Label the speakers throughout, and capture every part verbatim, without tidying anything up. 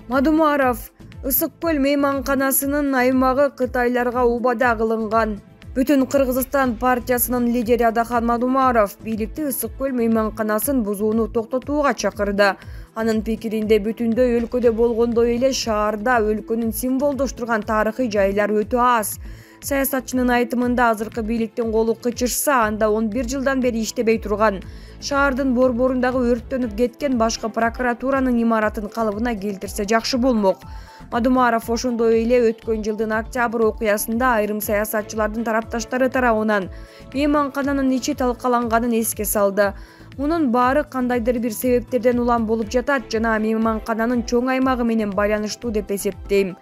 Speaker 1: Мадумаров Ысык көл мейманканасынын аймагы кытайларга убада кылынган. Бүтүн Кыргызстан партиясынын лидери Адахан Мадумаров бийликти Ысык көл мейманканасын бузууну токтотууга чакырды. Анын пикиринде бүтүндөй өлкөдө болгондой эле шаарда өлкөнүн символдоштурган тарыхый жайлар өтө аз. Саясатчынын айтымында азыркы бийликтин колу кычышса, анда он бир жылдан бери иштебей турган. Шаардын борборундагы өрттөнүп кеткен башкы прокуратуранын имаратын калыбына келтирсе жакшы болмок. Мадумаров ошондой эле өткөн жылдын октябрь окуясында айрым саясатчылардын тарапташтары тарабынан мейманкананын ичи талкаланганын эске салды. Мунун баары кандайдыр бир себептерден улам болуп жатат жана мейманкананын чоң аймагы менен байланыштуу деп эсептейм.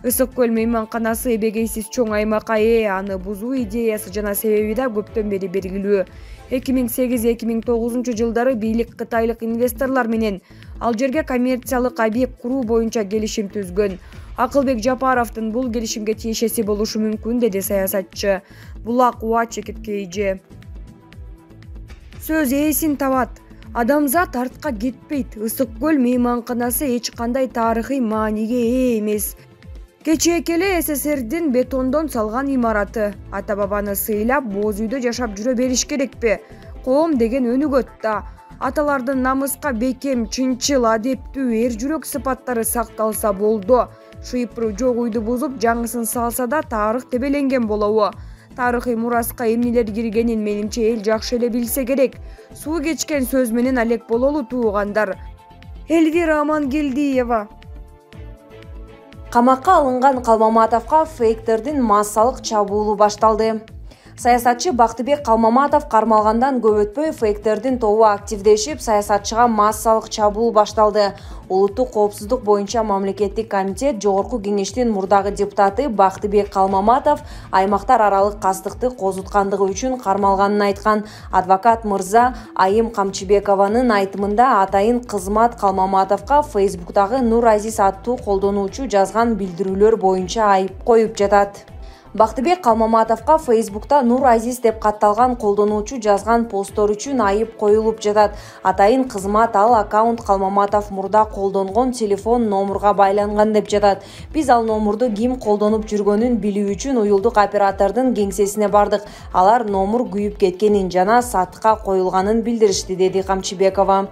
Speaker 1: Ысык көл мейманканасы эбегейсиз чоң аймакка ээ, аны бузуу идеясы жана себеби да көптөн бери белгилүү. эки миң сегиз эки миң тогузунчу жылдары бийлик кытайлык инвесторлор менен ал жерге коммерциялык объект куруу боюнча келишим түзгөн. Акылбек Жапаровдун бул келишимге тиешеси болушу мүмкүн, деди саясатчы. Булак Уа Чекиткейже. Сөз ээсин табат. Адамзат артка кетпейт. Ысык көл мейманканасы эч кандай тарыхый мааниге ээ эмес. Кечээ эле СССРдин бетондон салган имараты. Ата бабаны сыйлап, боз үйдө жашап жүрө бериш керекпи? Коом деген өнүгөт да. Аталардын намыска бекем, чынчыл, адептүү, эр жүрөк сыпаттары сакталса болду. Шыйпыруу жок үйдү бузуп, жаңысын салса да тарых тебеленген болобу? Тарыхый мураска эмнелер киргенин менимче эл жакшы эле билсе керек. Суу кечкен сөз менен алек бололу туугандар. Элвира Амангелдиева.
Speaker 2: Камакка алынган Калмаматовго фейктердин массалык чабуулу башталды. Саясатчы Бактыбек Калмаматов кармалгандан көп өтпөй фейктердин тобу активдешип, саясатчыга массалык чабуул башталды. Улуттук коопсуздук боюнча мамлекеттик комитет Жогорку кеңештин мурдагы депутаты Бактыбек Калмаматов аймактар аралык кастыкты козуткандыгы үчүн кармалганын айткан. Адвокат мырза Айым Камчыбекованын айтымында атайын кызмат Калмаматовго Фейсбуктагы Нур Азиз аттуу колдонуучу жазган билдирүүлөр боюнча айып коюп жатат. Бактыбек Калмаматовго Фейсбукта Нур Азиз деп катталган колдонуучу жазган посттор үчүн айып коюлуп жатат. Атайын кызмат ал аккаунт Калмаматов мурда колдонгон телефон номурга байланган деп жатат. Биз ал номурду ким колдонуп жүргөнүн билүү үчүн уюлдук оператордун кеңсесине бардык. Алар номур күйүп кеткенин жана сатыкка коюлганын билдиришти, деди Камчыбекова.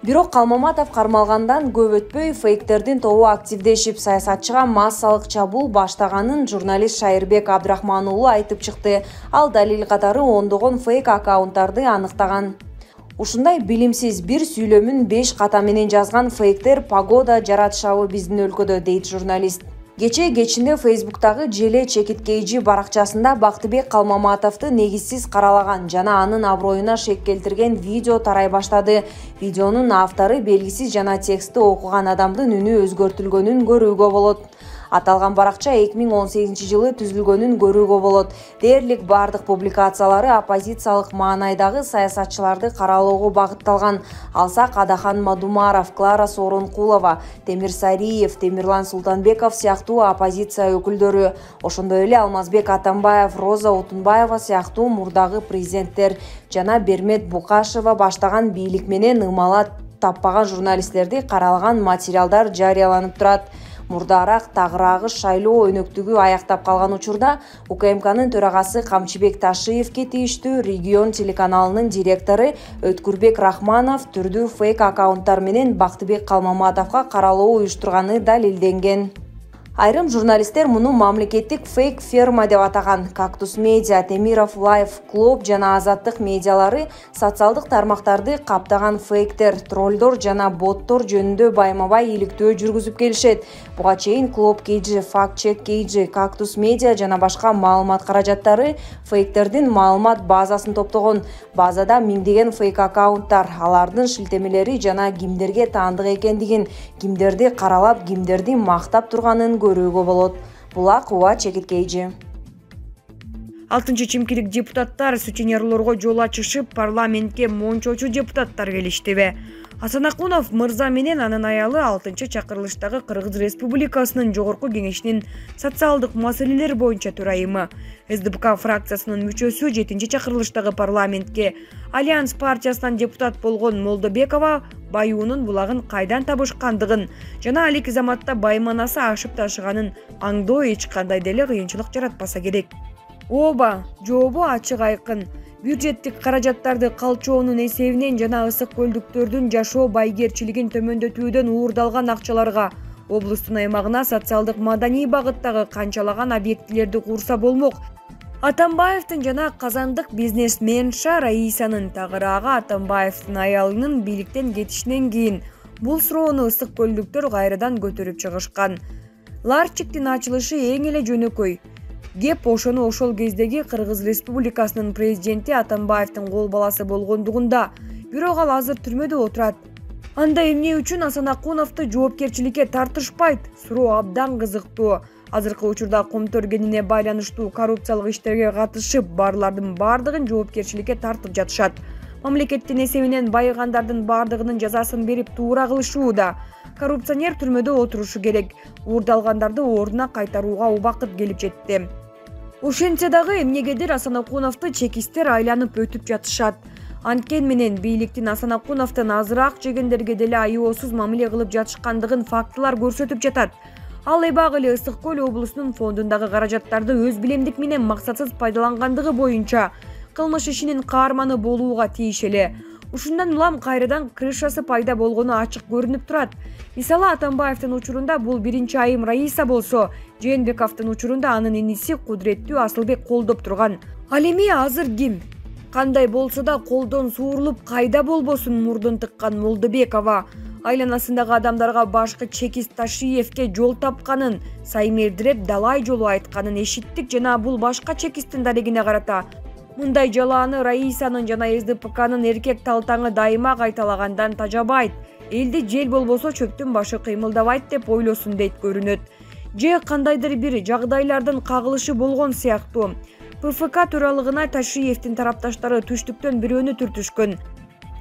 Speaker 2: Бирок Калмаматов кармалгандан көп өтпөй фейктердин тобу активдешип, саясатчыга массалык чабуул баштаганын журналист Шайырбек Абдрахман уулу айтып чыкты. Ал далил катары ондогон фейк аккаунттарды аныктаган. Ушундай билимсиз бир сүйлөмүн беш ката менен жазган фейктер погода жаратышабы биздин өлкөдө, дейт журналист. Кечээ кечинде Фейсбуктагы Желе Чекиткейжи баракчасында Бактыбек Калмаматовду негизсиз каралаган жана анын аброюна шек келтирген видео тарай баштады. Видеонун автору белгисиз жана текстти окуган адамдын үнү өзгөртүлгөнүн көрүүгө болот. Аталган баракча эки миң он сегизинчи жылы түзүлгөнүн көрүүгө болот. Дээрлик бардык публикациялары оппозициялык маанайдагы саясатчыларды каралоого багытталган. Алсак Адахан Мадумаров, Клара Сооронкулова, Темир Сариев, Темирлан Султанбеков сыяктуу оппозиция өкүлдөрү, ошондой эле Алмазбек Атамбаев, Роза Утунбаева сыяктуу мурдагы президенттер жана Бермет Букашева баштаган бийлик менен ымала таппаган журналисттерди каралаган материалдар жарыяланып турат. Мурдараак тагыраагы шайлоо өнөктүгү аяктап калган учурда УКМКнын төрагасы Камчыбек Ташиевке тийиштүү Регион телеканалынын директору Өткүрбек Рахманов түрдүү фейк аккаунттар менен Бактыбек Калмаматовго каралоо уюштурганы далилденген. Айрым журналисттер муну мамлекеттик фейк ферма деп атаган. Кактус медиа, Темиров Лайф Клуб жана Азаттык медиалары социалдык тармактарды каптаган фейктер, троллдор жана боттор жөнүндө байма-бай иликтөө жүргүзүп келишет. Буга чейин Клуб Кейджи, Факт Чек Кейджи, Кактус медиа жана башка маалымат каражаттары фейктердин маалымат базасын топтогон. Базада миңдеген фейк аккаунттар, алардын шилтемелери жана кимдерге таандык экендигин, кимдерди каралап, кимдерди мактап турганын көрүүгө болот. Булак Уа Чекиткейжи.
Speaker 1: Алтынчы чимкилик депутаттар сутенерлорго жол ачышып, парламентке мончочу депутаттар келиштиби? Асан Акунов мырза менен анын аялы алтынчы чакырылыштагы Кыргыз Республикасынын Жогорку кеңешинин социалдык маселелер боюнча төрайымы. СДПК фракциясынын мүчөсү жетинчи чакырылыштагы парламентке Альянс партиясынан депутат болгон Молдобекова баюунун булагын кайдан табышкандыгын жана алеки заматта байманасы ашып ташыганын аңдоо эч кандай деле кыйынчылык жаратпаса керек. Ооба, жообу ачык айкын. Бюджеттик каражаттарды калчоонун эсебинен жана ысык көлдүктөрдүн жашоо байгерчилигин төмөндөтүүдөн уурдалган акчаларга облустун аймагына социалдык маданий багыттагы канчалаган объектилерди курса болмок. Атамбаевдин жана казандык бизнесменша Раисанын тагыраагы Атамбаевдин аялынын бийликтен кетишинен кийин бул суроону ысык көлдүктөр кайрадан көтөрүп чыгышкан. Ларчиктин ачылышы эң эле жөнөкөй. Кеп ошону ошол кездеги Кыргыз Республикасынын президенти Атамбаевдин кол баласы болгондугунда, бирок ал азыр түрмөдө отурат. Анда эмне үчүн Асан Акуновду жоопкерчиликке тартышпайт? Суроо абдан кызыктуу. Азыркы учурда Комтөргенине байланыштуу коррупциялык иштерге катышып барлардын бардыгын жоопкерчиликке тартып жатышат. Мамлекеттин эсебинен байыгандардын бардыгынын жазасын берип туура кылышууда. Коррупционер түрмөдө отурушу керек. Уурдалгандарды ордуна кайтарууга убакыт келип жетти. Ошентсе дагы эмнегедир Асан Акуновду чекистер айланып өтүп жатышат. Анткени менен бийликтин Асан Акуновдун азыраак жегендерге деле айоосуз мамиле кылып жатышкандыгын фактылар көрсөтүп жатат. Ал эбак эле Ысык көл облусунун фондундагы каражаттарды өз билемдик менен максатсыз пайдалангандыгы боюнча кылмыш ишинин каарманы болууга тийиш эле. Ушундан улам кайрадан крышасы пайда болгону ачык көрүнүп турат. Мисалы, Атамбаевдин учурунда бул биринчи айым Раиса болсо, Жээнбековдун учурунда анын иниси Кудуреттүү Асылбек колдоп турган. Ал эми азыр ким? Кандай болсо да колдон суурулуп кайда болбосун мурдун тыккан Молдобекова айланасындагы адамдарга башкы чекист Ташиевке жол тапканын, Саймердиреп далай жолу айтканын эшиттик жана бул башка чекисттин дарегине карата мындай жалааны Раисанын жана эс дэ пэ канын эркек талтаңы дайыма кайталагандан тажабайт. Элди жел болбосо чөптүн башы кыймылдабайт деп ойлосун дейт көрүнөт. Же кандайдыр бир жагдайлардын кагылышы болгон сыяктуу. пэ эф ка төралыгына Ташиевдин тарапташтары түштүктөн бирөөнү түртүшкөн.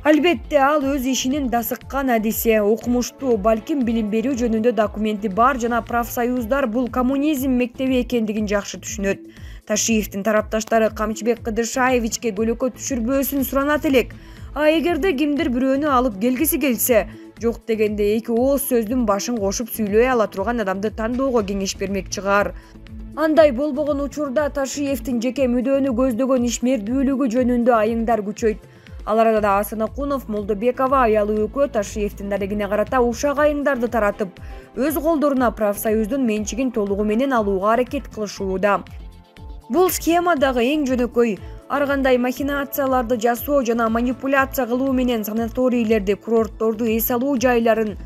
Speaker 1: Албетте ал өз ишинин дасыккан адиси, окумуштуу, балким билим берүү жөнүндө документи бар жана профсоюздар бул коммунизм мектеби экендигин жакшы түшүнөт. Ташиевдин тарапташтары Камчыбек Кыдыршаевичке көлөкө түшүрбөөсүн суранат элек. А эгерде кимдир бирөөнү алып келгиси келсе, жок дегенде эки ооз сөздүн башын кошуп сүйлөй ала турган адамды тандоого кеңеш бермек чыгар. Андай болбогон учурда Ташиевдин жеке мүдөнү көздөгөн ишмердүүлүгү жөнүндө айыңдар күчөйт. Ал арада Асан Акунов, Молдобекова аялы экөө Ташиевдин дарегине карата ушак айыңдарды таратып, өз колдоруна профсоюздун менчигин толугу менен алууга аракет кылышууда. Бул схема дагы эң жөнөкөй. Ар кандай махинацияларды жасоо жана манипуляция кылуу менен санаторийлерди, курортторду, эс алуу жайларын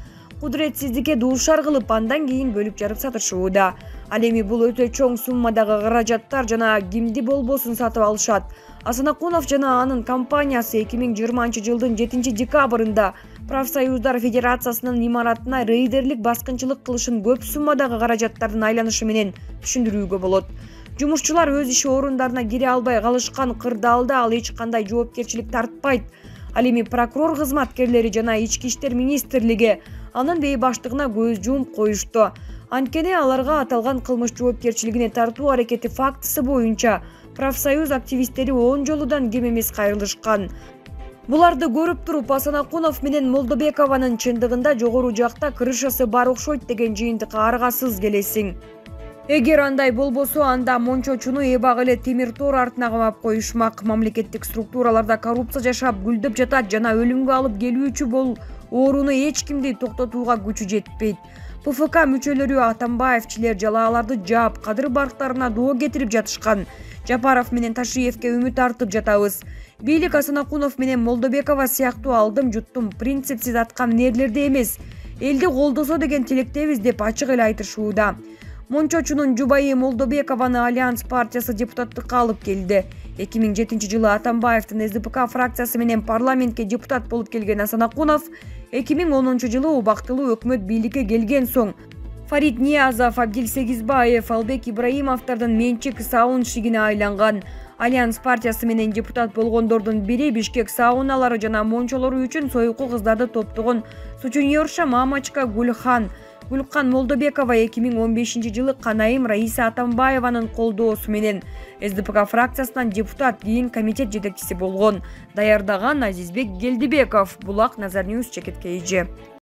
Speaker 1: кудуретсиздикке дуушар кылып, андан кийин бөлүп жарып сатышууда. Ал эми бул өтө чоң суммадагы каражаттар жана кимди болбосун сатып алышат. Асан Акунов жана анын компаниясы эки миң жыйырманчы жылдын жетинчи декабрында профсоюздар федерациясынын имаратына рейдерлик баскынчылык кылышын көп суммадагы каражаттардын айланышы менен түшүндүрүүгө болот. Жумушчулар өз иш орундарына кире албай калышкан кырдаалда ал эч кандай жоопкерчилик тартпайт. Ал эми прокурор кызматкерлери жана ички иштер министрлиги анын бейбаштыгына көз жумуп коюшту. Анткени аларга аталган кылмыш жоопкерчилигине тартуу аракети фактысы боюнча профсоюз активисттери он жолудан кем эмес кайрылышкан. Буларды көрүп туруп Асан Акунов менен Молдобекованын чындыгында жогору жакта крышасы бар окшойт деген жыйынтыкка аргасыз келесиң. Эгер андай болбосо, анда Мончочуну эбак эле темир тор артына камап коюшмак. Мамлекеттик структураларда коррупция жашап гүлдөп жатат жана өлүмгө алып келүүчү бул ооруну эч кимди токтотууга күчү жетпейт. пэ эф ка мүчөлөрү Атамбаевчилер жалааларды жаап, кадыр барктарына доо кетирип жатышкан. Жапаров менен Ташиевке үмүт артып жатабыз. Бийлик Асан Акунов менен Молдобекова сыяктуу алдым жуттум принципсиз аткан нерлерде эмес, элди колдосо деген тилектебиз деп ачык эле айтышууда. Мончочунун жубайы Молдобекованы Альянс партиясы депутаттыкка алып келди. эки миң жетинчи жылы Атамбаевдин эс дэ пэ ка фракциясы менен парламентке депутат болуп келген Асан Акунов эки миң онунчу жылы убактылуу өкмөт бийликке келген соң Фарид Ниязов, Абдил Сегизбаев, Албек Ибраимовдордун менчик сауншигине айланган. Альянс партиясы менен депутат болгондордун бири Бишкек сауналары жана мончолору үчүн союкку кыздарды топтогон сутенерша Мамачка Гульхан. Гүлкан Молдобекова эки миң он бешинчи жылы Канайым Раиса Атамбаеванын колдоосу менен эс дэ пэ ка фракциясынан депутат, кийин комитет жетекчиси болгон. Даярдаган Азизбек Гелдибеков. Булак Назар Ньюс, Чекит Кей Же.